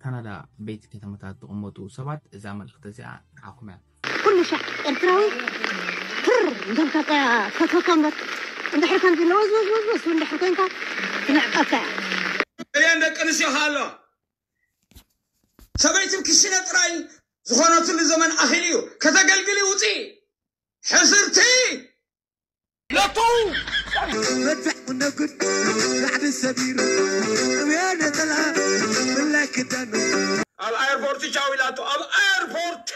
ካናዳ ቤት ከተማታት ዝቕመጡ ሰባት እዛ መልእኽቲ እዚኣ ንዓኹም እያ። ኩሉ ሻዕ ኤርትራዊ ትር እንዳልካ ፈትወካ እምበር፣ እንድሕር ከምዚ ኢለ ወዝ ወዝ ወዝ ወዝ እንድሕር ኮንካ ትንዕቀካ እያ። እየን ደቂ ኣንስትዮ ሃሎ ሰበይትን ክሽነ ጥራይ ዝኾነትሉ ዘመን ኣኺሉ እዩ። ከተገልግሊ ውፂ ሕስርቲ ለቱ መድፍዕ ነጉድ ራዕዲ ሰቢሩ እብያ ነጠላ ብላይ ክዳኑ ኣብ ኣየርፖርቲ ቻው ኢላቶ ኣብ ኣየርፖርቲ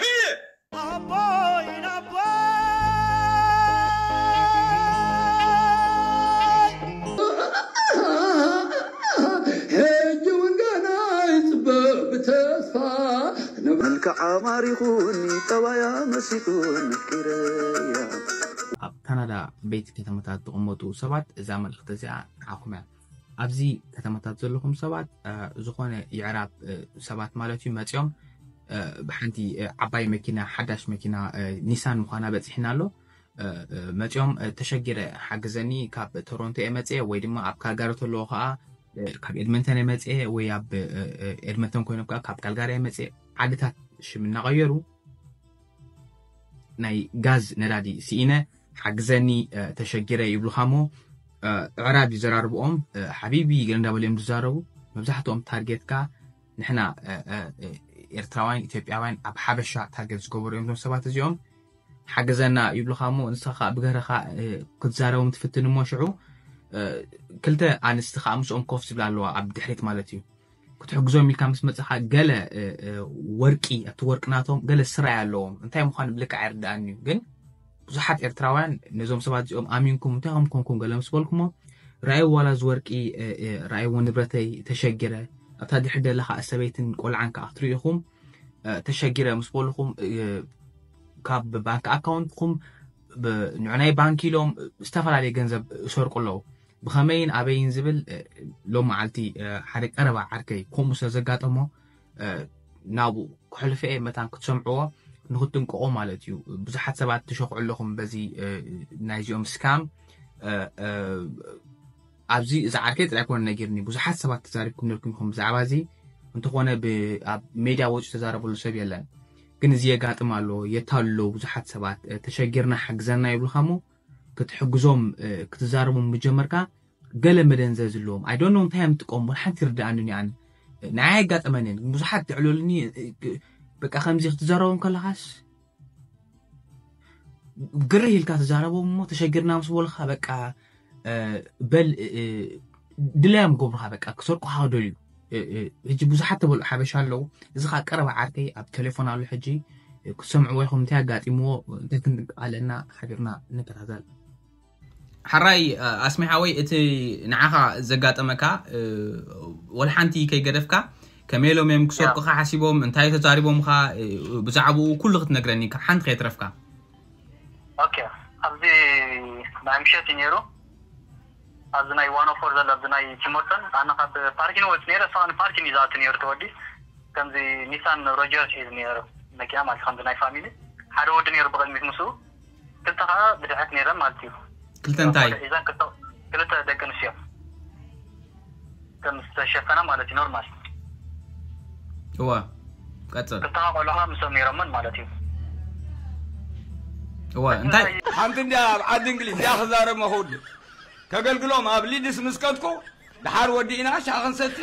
ሕጂ እውን ገና ይፅበ ብተስፋ መልክዓ ማሪኹኒ ጠባያ መሲጡን ኣፍቂረያ ኣብ ካናዳ ቤት ከተማታት ዝቕመጡ ሰባት እዛ መልእኽቲ እዚኣ ንዓኹም እያ። ኣብዚ ከተማታት ዘለኹም ሰባት ዝኾነ የዕራብ ሰባት ማለት እዩ መፂኦም ብሓንቲ ዓባይ መኪና ሓዳሽ መኪና ኒሳን ምዃና በፂሕና ኣሎ። መፂኦም ተሸጊረ ሓግዘኒ ካብ ቶሮንቶ እየ መፅየ ወይ ድማ ኣብ ካልጋሪ ተለዎ ከዓ ካብ ኤድመንተን እየ መፅየ ወይ ኣብ ኤድመንተን ኮይኖም ከዓ ካብ ካልጋሪ እየ መፅየ ዓድታት ሽም እናቐየሩ ናይ ጋዝ ነዳዲ ስኢነ ሓግዘኒ ተሸጊረ ይብሉኻ እሞ ዕራብ ይዘራርብኦም ሓቢቢ ገለ እንዳበሉ እዮም ዝዛረቡ። መብዛሕትኦም ታርጌትካ ንሕና ኤርትራውያን ኢትዮጵያውያን ኣብ ሓበሻ ታርጌት ዝገበሩ እዮም እዞም ሰባት እዚኦም። ሓግዘና ይብሉኻ እሞ ንስኻ ከዓ ብገረኻ ክትዛረቦም ትፍትን እሞ ሽዑ ክልተ ኣንስቲ ከዓ ምስኦም ኮፍ ዝብላ ኣለዋ ኣብ ድሕሪት ማለት እዩ። ክትሕግዞም ኢልካ ምስ መፅኻ ገለ ወርቂ ኣብቲ ወርቂ ናቶም ገለ ስራይ ኣለዎም እንታይ ምዃኑ ብልክዕ ኣይርድኣኒ እዩ ግን ብዙሓት ኤርትራውያን ነዞም ሰባት እዚኦም ኣሚንኩም እንታይ ከም ኮንኩም ገለ ምስ በልኩሞ ረኣይዎ ዋላ እዚ ወርቂ ረኣይዎ ንብረተይ ተሸጊረ ኣብታ ድሕሪ ደላ ከዓ ሰበይትን ቆልዓን ከዓ ክትርኢ ኢኹም ተሸጊረ ምስ በልኹም ካብ ባንክ ኣካውንትኩም ንዑናይ ባንክ ኢሎም ዝተፈላለየ ገንዘብ ይሰርቁ ኣለዉ ብኸመይን ኣበይን ዝብል ሎም መዓልቲ ሓደ ቀረባ ዓርከይ ከምኡ ስለ ዘጋጠሞ ናብኡ ክሕልፈ እየ መታን ክትሰምዕዎ ንክትጥንቀቑ ማለት እዩ ብዙሓት ሰባት ትሸኽዑ ኣለኹም በዚ ናይዚኦም ስካም ኣብዚ እዚ ዓርከይ ጥራይ ኮነ ነጊርኒ ብዙሓት ሰባት ተዛሪብኩም ነርኩም ኢኹም ብዛዕባ እዚ እንተኾነ ኣብ ሜድያ ወፂኡ ተዛረበሉ ሰብ የለን ግን እዚ የጋጥም ኣሎ የታሉ ብዙሓት ሰባት ተሸጊርና ሓግዘና ይብልካ እሞ ክትሕግዞም ክትዛረቦም ምጀመርካ ገለ መደንዘዝ ኣለዎም I don't know እንታይ እዮም ዝጥቀሙ ሓንቲ ይርድኣኒ ኣነ ንዓይ ኣጋጠመንን ብዙሓት ትዕሉልኒ በቃ ከምዚ ክትዛረቦም ከለኻስ ግርህ ኢልካ ትዛረቦም እሞ ተሸጊርና ምስ በሉኻ በቃ በል ድላዮም ገብሩኻ በቃ ክሰርቁኻ ክደልዩ ሕጂ ብዙሓት ተበልዑ ሓበሻ ኣለዉ እዚ ኸዓ ቀረባ ዓርከይ ኣብ ቴሌፎን ኣሎ ሕጂ ክትሰምዕዎ ኢኹም እንታይ ኣጋጢምዎ እንታይ ክንጥቀ ኣለና ሓቢርና ንከታተል ሓራይ ኣስሚ ሓወይ እቲ ንዓኻ ዘጋጠመካ ወላ ሓንቲ ከይገደፍካ ከመይ ኢሎም እዮም ክሰርቁኻ ሓሲቦም እንታይ ተዛሪቦምኻ ብዛዕባኡ ኩሉ ክትነግረኒ ካብ ሓንቲ ከየትረፍካ ኦኬ ኣብዚ ናይ ምሸት እዩ ነይሩ ኣብዚ ናይ ዋን ኦፎር ዘሎ ኣብዚ ናይ ቲሞርተን ኣነ ካብ ፓርኪን ወፅ ነይረ እሱ ፓርኪን እዩ ዝኣቱ ነይሩ ተወዲ ከምዚ ኒሳን ሮጀርስ እዩ ነይሩ መኪና ማለት ከምዚ ናይ ፋሚሊ ሓደ ወዲ ነይሩ ብቕድሚት ምስኡ ክልተ ከዓ ብድሕሪት ነይረን ማለት እዩ ክልተ እንታይ ሒዘን ክልተ ደቂ ኣንስትዮ ከም ዝተሸፈና ማለት እዩ ኖርማል እዋ ቀፅል ክልተ ቆልዑ ከዓ ምስኦም ነይሮምን ማለት እዩ እዋ እንታይ ሓንቲ እንዲያ ኣብ ዓዲ እንግሊዝ እያ ክዛረብ መኸውድ ከገልግሎም ኣብ ሊድስ ምስ ከድኩ ደሓር ወዲእና ሻሂ ክንሰቲ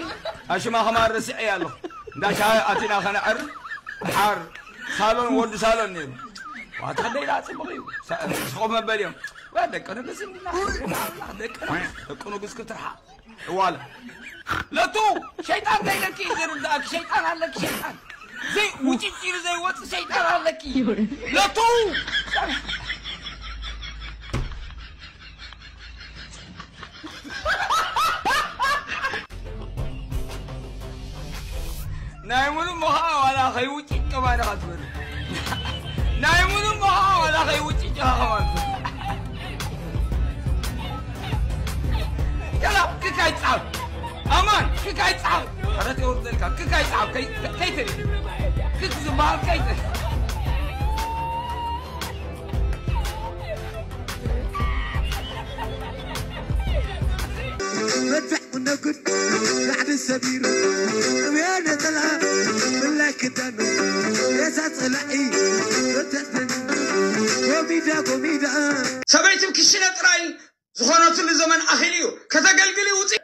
ኣሽማ ከማን ረሲዐያ ኣለኹ እንዳ ሻሂ ኣቲና ከነዕር ደሓር ሳሎን ወዲ ሳሎን ነይሩ ዋታ ደይዳ ፅቡቕ እዩ ስኾፍ መበል እዮም ደቂ ንግስ እንዲና ደቂ ደቂ ንግስ ክትርሓ እዋለ ለቱ ሸይጣን ከይለኪ ዝርዳእክ ሸይጣን ኣለክ ሸይጣን ዘይ ውጭጭ ኢሉ ዘይወፅ ሸይጣን ኣለኪ ለቱ ናይ ሙሉ ምኻ ዋላ ከይውጭጭ ከማን ኢኻ ትበል ናይ ሙሉ ምኻ ዋላ ከይውጭጭ ኢኻ ከማን ትበል ገላ ክካይ ጻብ ኣማን ክካይ ጻብ ሕረት የውርደልካ ክካይ ጻብ ከይትል ክክ ዝበሃል ከይትል መድፍዕ ነጉድ ላዕሊ ሰቢሩ እብያ ነጠላ ግዳኑ ሬሳ ጸላኢ ተተፍን ጎሚዳ ጎሚዳ ሰበይትም ክሽነ ጥራይ ዝኾነትሉ ዘመን ኣኺሉ እዩ። ከተገልግሊ ውፅእ።